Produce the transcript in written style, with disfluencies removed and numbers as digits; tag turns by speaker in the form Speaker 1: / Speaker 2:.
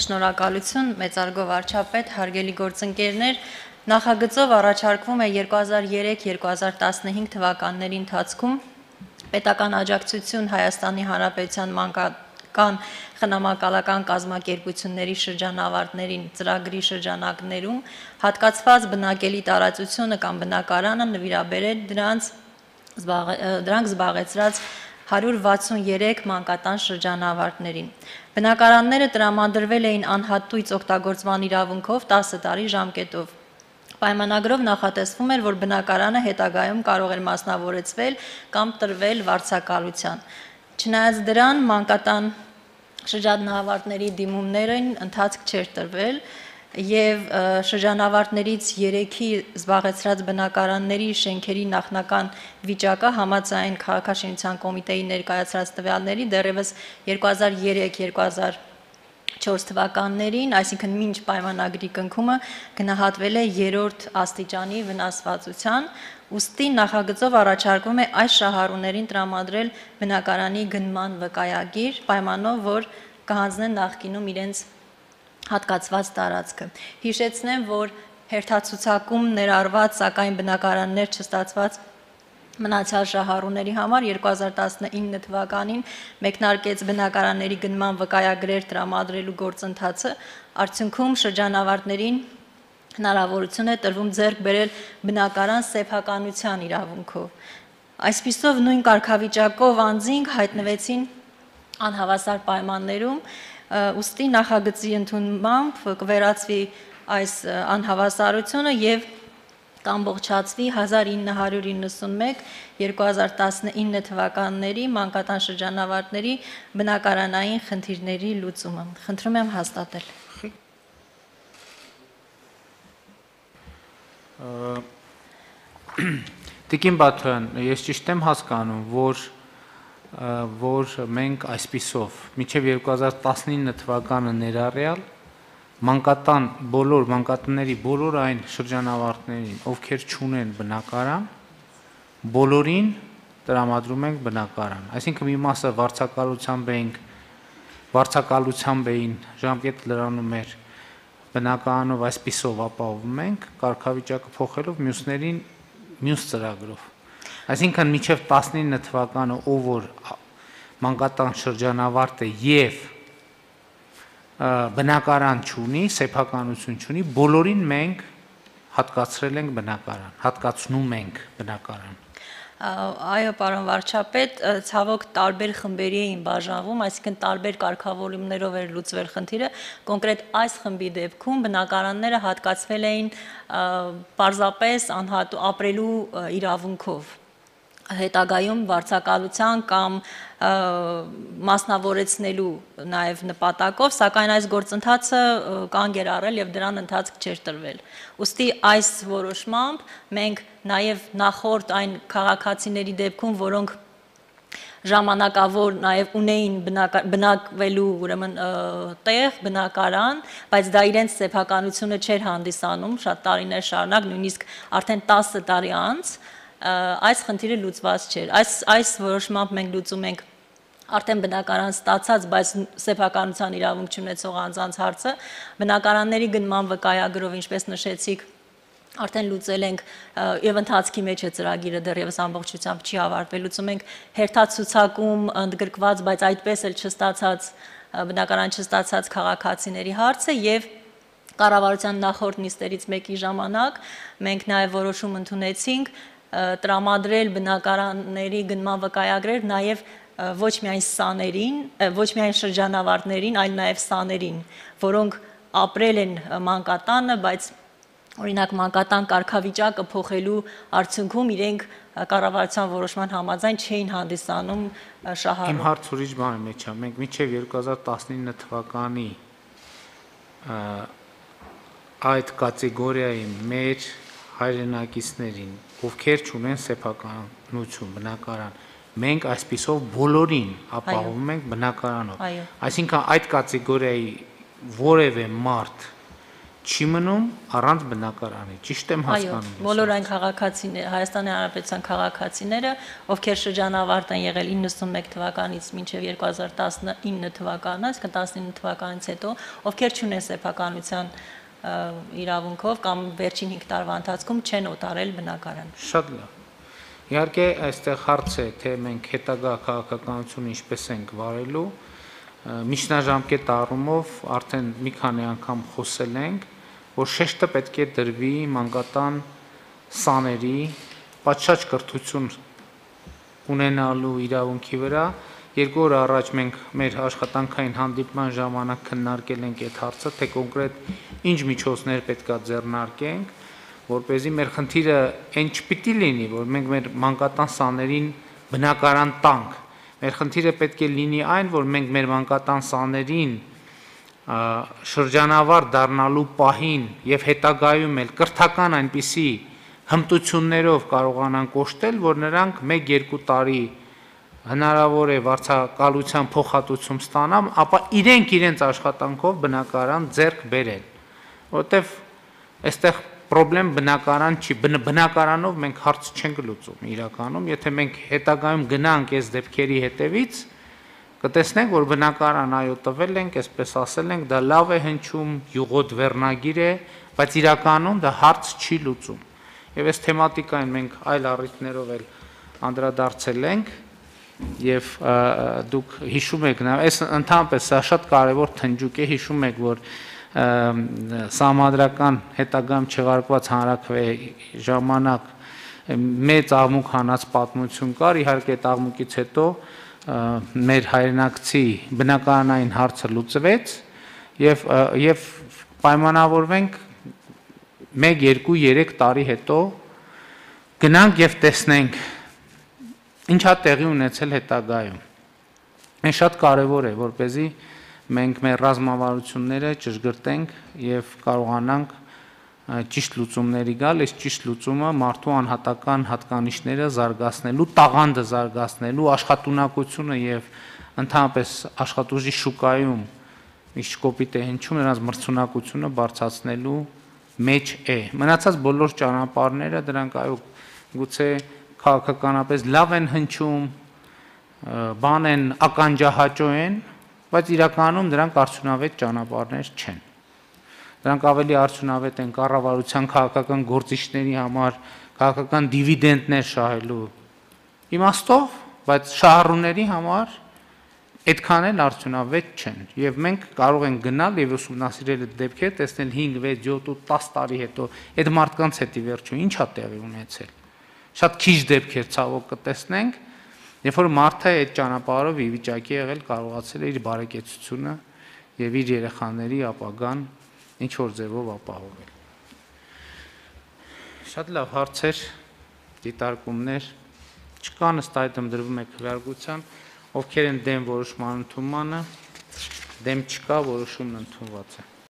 Speaker 1: Շնորհակալություն, մեծարգո վարչապետ, հարգելի գործընկերներ, նախագծով առաջարկվում է 2003-2015 թվականների ընթացքում պետական աջակցություն Հայաստանի Հանրապետության մանկական խնամակալական կազմակերպությունների շրջանավարտներին ծրագրի շրջանակներում հատկացված բնակելի տարածությունը կամ բնակարանը նվիրաբերել դրանք զբաղեցրած 163 մանկատան շրջանավարտներին։ Բնակարանները տրամադրվել էին անհատույց օգտագործման իրավունքով 10 տարի ժամկետով։ Պայմանագրով նախատեսվում էր, որ բնակարանը հետագայում կարող էր մասնավորեցվել կամ տրվել վարձակալության։ Չնայած դրան մանկատան շրջանավարտների դիմումներին ընթացք չէր տրվել եւ շրջանավարտներից 3-ի զբաղեցրած բնակարանների շենքերի նախնական վիճակը համաձայն քաղաքաշինության կոմիտեի ներկայացրած տվյալների դեռևս 2003-2004 թվականներին, այսինքն մինչ պայմանագրի կնքումը գնահատվել է 3-րդ աստիճանի վնասվածության, ուստի նախագծով առաջարկվում է այս շահառուներին տրամադրել բնակարանի գնման վկայագիր, պայմանով որ կհանձնեն նախկինում իրենց հատկացված տարածքը։ Հիշեցնեմ, որ հերթացուցակում ներառված, սակայն բնակարաններ չստացված մնացյալ շահառուների համար 2019 թվականին մեկնարկեց բնակարանների գնման վկայագրեր տրամադրելու գործընթացը, արդյունքում շրջանավարտներին հնարավորություն է տրվում ձեռք բերել բնակարան սեփականության իրավունքով։ Այսպիսով նույն կարգավիճակով անձինք հայտնվեցին անհավասար պայմաններում, ուստի նախագծի ընդունմամբ կվերացվի այս անհավասարությունը եւ կամբողջացվի 1991-2019 թվականների մանկատան շրջանավարտների բնակարանային խնդիրների լուծումը։ Խնդրում եմ հաստատել։
Speaker 2: Տիկին Բաթոյան, ես ճիշտ եմ հասկանում, որ մենք այսպիսով մինչև 2019 թվականը ներառյալ մանկատանների բոլոր այն շրջանավարտներին, ովքեր չունեն բնակարան, բոլորին տրամադրում ենք բնակարան։ Այսինքն մի մասը վարձակալությամբ էին ժամկետ լրանում էր բնակարանով այսպիսով ապահովում ենք, կարգավիճակը փոխելով մյուսներին մյուս ծրագրով։ Այսինքն մինչև 19 թվականը ով որ մանկատան շրջանավարտ է եւ բնակարան չունի, սեփականություն չունի, բոլորին մենք հատկացրել ենք բնակարան, հատկացնում ենք բնակարան։
Speaker 1: Այո, պարոն վարչապետ, ցավոք տարբեր խմբերի էին բաժանվում, այսինքն տարբեր կարգավորումներով էր լուծվել խնդիրը, կոնկրետ այս խմբի դեպքում բնակարանները հատկացվել էին պարզապես ապրելու իրավունքով, հետագայում վարձակալության կամ մասնավորեցնելու նաև նպատակով, սակայն այս գործընթացը կանգ էր առել եւ դրան ընթացք չէր տրվել։ Ուստի այս որոշմամբ մենք նաև նախորդ այն քաղաքացիների դեպքում, որոնք ժամանակավոր նաև ունեին բնակվելու ուրեմն տեղ, բնակարան, բայց դա իրենց սեփականությունը չէր հանդիսանում շատ տարիներ շարունակ, նույնիսկ արդեն 10 տարի անց այս խնդիրը լուծված չէր։ Այս որոշմամբ մենք լուծում ենք արդեն բնակարան ստացած, բայց սեփականության իրավունք չունեցող անձանց հարցը, բնակարանների գնման վկայագրով, ինչպես նշեցիք, արդեն լուծել ենք եւ ընթացքի մեջ է ծրագիրը դեռևս ամբողջությամբ չի ավարտվել, լուծում ենք հերթացուցակում ընդգրկված, բայց այդպես էլ չստացած բնակարան չստացած քաղաքացիների հարցը եւ կառավարության նախորդ նիստերից մեկի ժամանակ մենք նաեւ որոշում ընդունեցինք տրամադրել բնակարանների գնման վկայագրեր նաև ոչ միայն սաներին, ոչ միայն շրջանավարտներին, այլ նաև սաներին, որոնք ապրել են մանկատանը, բայց օրինակ մանկատան կարգավիճակը փոխելու արդյունքում իրենք կառավարության որոշման համաձայն չէին հանդիսանում շահառու։
Speaker 2: Իմ հարց ուրիշ բանի մեջ է, մենք մինչև 2019 թվականի այդ կատեգորիայի մեր հայրենակիցներին, ովքեր չունեն սեփականություն, բնակարան, մենք այսպիսով բոլորին ապահովում ենք բնակարանով։ Այսինքն այդ կատեգորիայի որևէ մարդ, չի մնում առանց բնակարանի, ճիշտ եմ
Speaker 1: Այո,
Speaker 2: հասկանում։
Speaker 1: բոլոր այն քաղաքացիները, Հայաստանի Հանրապետության քաղաքացիները, ովքեր շրջանավարտ են եղել 91 թվականից մինչև 2019 թվականը, այսինքն 19 թվականից հետո, ովքեր չունեն սեփականության իրավունքով կամ վերջին 5 տարվա ընթացքում չեն օտարել բնակարան։
Speaker 2: Շատ լավ։ Իհարկե, այստեղ հարց է, թե մենք հետագա քաղաքականությունը ինչպես ենք վարելու, միջնաժամկետ առումով արդեն մի քանի անգամ խոսել ենք, որ շեշտը պետք է դրվի մանկատան սաների պատշաճ կրթություն ունենալու իրավունքի վրա։ 2 օր առաջ մենք մեր աշխատանքային հանդիպման ժամանակ քննարկել ենք այդ հարցը, թե կոնկրետ ինչ միջոցներ պետքա ձեռնարկենք, որպեսզի մեր խնդիրը այն չպիտի լինի, որ մենք մեր մանկատան սաներին բնակարան տանք։ Մեր խնդիրը պետք է լինի այն, որ մենք մեր մանկատան սաներին շրջանավար դառնալու պահին եւ հետագայում էլ կրթական այնպիսի հմտություններով կարողանանք կոչտել, որ նրանք 1-2 տարի հնարավոր է վարձակալության փոխհատուցում ստանան, ապա իրենց աշխատանքով բնակարան ձեռք բերեն, որտեվ այստեղ պրոբլեմ բնակարան չի, բնակարանով մենք հարց չենք լուծում իրականում, եթե մենք հետագայում գնանք այս դեպքերի հետևից, կտեսնենք, որ բնակարան այո տվել ենք, այսպես ասել ենք, դա լավ է հնչում, յուղոտ վերնագիր է, բայց իրականում դա հարց չի լուծում։ Եվ այս թեմատիկային մենք այլ առիթներով էլ անդրադարձել ենք, եւ դուք հիշում եք նաեւ, այս ընդհանրապես սա շատ կարեւոր թնջուկ է, հիշում եք, որ Սահմանադրական հետագայում չեղարկված հանրաքվեի ժամանակ մեծ աղմուկ հանած պատմություն կար, իհարկե այդ աղմուկից հետո մեր հայրենակցի բնակարանային հարցը լուծվեց եւ պայմանավորվենք 1-2-3 տարի հետո գնանք եւ տեսնենք ինչա տեղի ունեցել հետագայում։ Այն շատ կարեւոր է, որպեսզի մենք մեր ռազմավարությունները ճշգրտենք եւ կարողանանք ճիշտ լուծումների գալ, այս ճիշտ լուծումը մարդու անհատական հատկանիշները զարգացնելու, տաղանդը զարգացնելու, աշխատունակությունը եւ ընդհանրապես աշխատուժի շուկայում ինչ կոպիտ է հնչում, նրանց մրցունակությունը բարձրացնելու մեջ է։ Մնացած բոլոր ճանապարհները դրանք այո գուցե քաղաքականապես լավ են հնչում, բան են ականջահաճո են, բայց իրականում դրանք արդյունավետ ճանապարհներ չեն։ Դրանք ավելի արդյունավետ են կառավարության քաղաքական գործիչների համար, քաղաքական դիվիդենդներ շահելու իմաստով, բայց շահառուների համար այդքան էլ արդյունավետ չեն։ Եվ մենք կարող ենք գնալ եւ ուսումնասիրել այդ դեպքերը, տեսնել 5, 6, 7 ու 10 տարի հետո այդ մարդկանց հետի վերջո ինչա տեղի ունեցել։ Շատ քիչ դեպքեր ցավոք կտեսնենք, երբ որ մարդը այդ ճանապարհով ի վիճակի եղել կարողացել է իր բարեկեցությունը եւ իր երեխաների ապագան ինչ որ ձևով ապահովել։ Շատ լավ հարցեր, դիտարկումներ չկան, ըստ այդմ դրվում է քվեարկության, ովքեր են դեմ որոշման ընդունմանը, դեմ չկա, որոշումն ընդունված է։